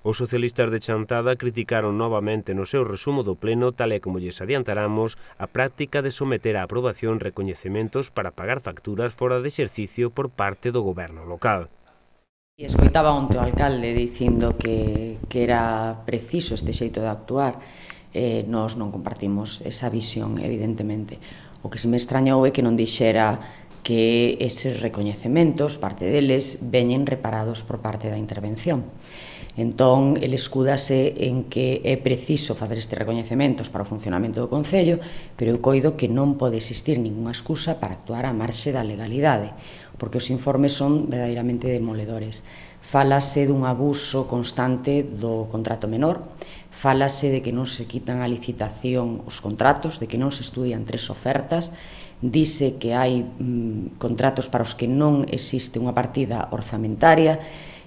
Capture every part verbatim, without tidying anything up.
Os socialistas de Chantada criticaron novamente no seu resumo do pleno, tal e como lles adiantaramos, a práctica de someter á aprobación recoñecementos para pagar facturas fora de exercicio por parte do goberno local. E escoitaba onte o alcalde dicindo que, que era preciso este xeito de actuar. Eh, nós non compartimos esa visión, evidentemente. O que se me extrañou é que non dixera que eses recoñecementos, parte deles, veñen reparados por parte da intervención. Entón, ele escúdase en que é preciso facer estes recoñecementos para o funcionamento do Concello, pero eu coido que non pode existir ningunha excusa para actuar á marxe da legalidade, porque os informes son verdadeiramente demoledores. Fálase dun abuso constante do contrato menor, fálase de que non se quitan a licitación os contratos, de que non se estudian tres ofertas, dice que hai mm, contratos para os que non existe unha partida orzamentaria,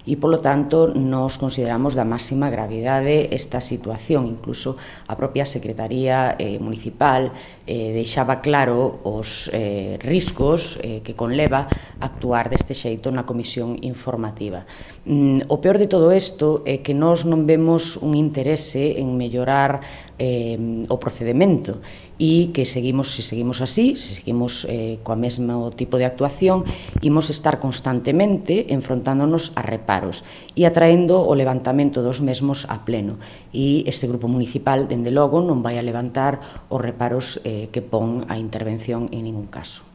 e, polo tanto, nos consideramos da máxima gravidade esta situación. Incluso a propia Secretaría eh, Municipal eh, deixaba claro os eh, riscos eh, que conleva actuar deste xeito na comisión informativa. Mm, o peor de todo isto é que nós non vemos un interese en mellorar eh, o procedimento e que seguimos, se seguimos así, se seguimos eh, coa mesmo tipo de actuación, imos estar constantemente enfrontándonos a reparos e atraendo o levantamento dos mesmos a pleno. E este grupo municipal, dende logo, non vai a levantar os reparos eh, que pon a intervención en ningún caso.